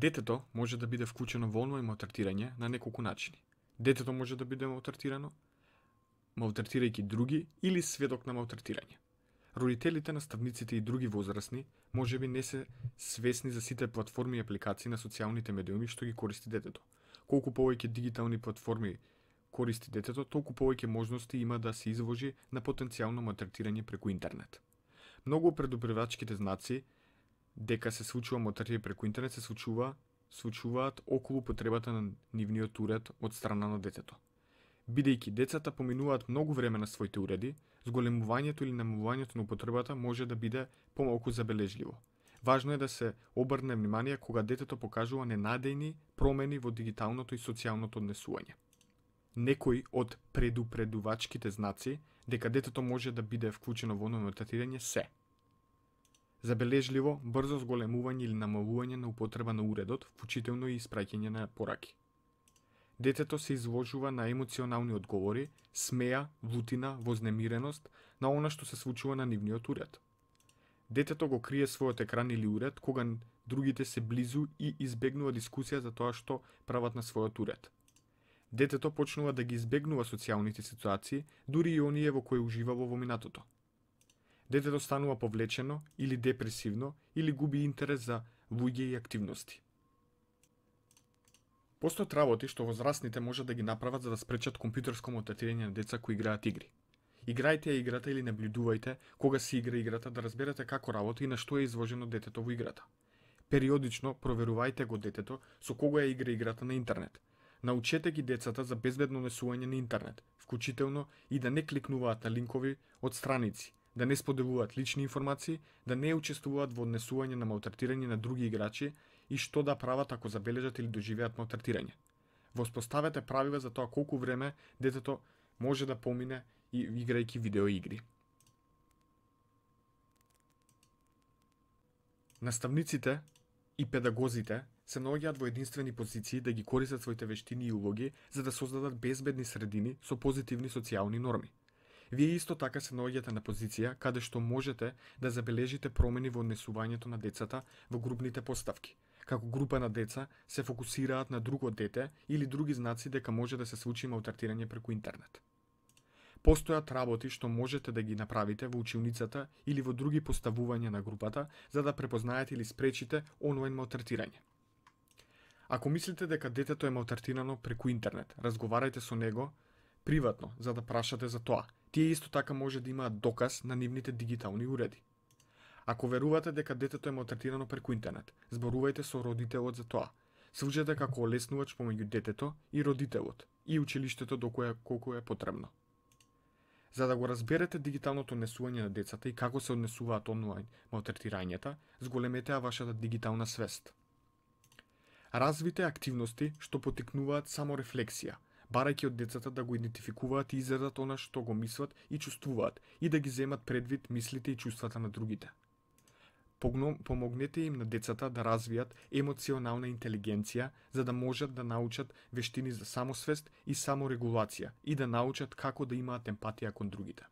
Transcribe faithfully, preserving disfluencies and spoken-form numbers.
Детето може да биде вклучено во онлајн малтретирање на неколку начини. Детето може да биде малтретирано, малтретирајќи други или сведок на малтретирање. Родителите, наставниците и други возрастни можеби не се свесни за сите платформи и апликации на социјалните медиуми што ги користи детето. Колку повеќе дигитални платформи користи детето, толку повеќе можности има да се изложи на потенцијално малтретирање преку интернет. Многу предупредувачките знаци дека се случува малтретирање преку интернет се случува, случуваат околу потребата на нивниот уред од страна на детето. Бидејќи децата поминуваат многу време на своите уреди, зголемувањето или намалувањето на употребата може да биде помалку забележливо. Важно е да се обрне внимание кога детето покажува ненадејни промени во дигиталното и социјалното однесување. Некои од предупредувачките знаци дека детето може да биде вклучено во онлајн малтретирање се: забележливо, брзо зголемување или намалување на употреба на уредот, вклучително и испраќање на пораки. Детето се изложува на емоционални одговори, смеја, лутина, вознемиреност на она што се случува на нивниот уред. Детето го крие својот екран или уред кога другите се близу и избегнува дискусија за тоа што прават на својот уред. Детето почнува да ги избегнува социјалните ситуации, дури и оние во кои уживало во минатото. Детето станува повлечено или депресивно или губи интерес за луѓе и активности. Постојат работи што возрастните може да ги направат за да спречат компјутерско малтретирање на деца кои играат игри. Играјте ја играта или наблюдувајте кога се игра играта да разберете како работи и на што е изложено детето во играта. Периодично проверувајте го детето со кого ја игра играта на интернет. Научете ги децата за безбедно однесување на интернет, вклучително и да не кликнуваат на линкови од страници, да не споделуваат лични информации, да не учествуваат во однесување на малтретирање на други играчи и што да прават ако забележат или доживеат малтретирање. Воспоставете правила за тоа колку време детето може да помине и играјќи видеоигри. Наставниците и педагозите се наоѓаат во единствени позиции да ги користат своите вештини и улоги за да создадат безбедни средини со позитивни социјални норми. Вие исто така се наоѓате на позиција каде што можете да забележите промени во однесувањето на децата во групните поставки, како група на деца се фокусираат на друго дете или други знаци дека може да се случи малтретирање преку интернет. Постојат работи што можете да ги направите во училницата или во други поставувања на групата за да препознаете или спречите онлајн малтретирање. Ако мислите дека детето е малтретирано преку интернет, разговарајте со него приватно за да прашате за тоа. Тие исто така може да имаат доказ на нивните дигитални уреди. Ако верувате дека детето е малтретирано преку интернет, зборувајте со родителот за тоа. Служете како олеснувач помеѓу детето и родителот и училиштето доколку колку е потребно. За да го разберете дигиталното однесување на децата и како се однесуваат онлајн малтретирањата, зголемете ја вашата дигитална свест. Развите активности што поттикнуваат само рефлексија, барајќи од децата да го идентификуваат и изразат она што го мислат и чувствуваат и да ги земат предвид мислите и чувствата на другите. Помогнете им на децата да развијат емоционална интелигенција за да можат да научат вештини за самосвест и саморегулација и да научат како да имаат емпатија кон другите.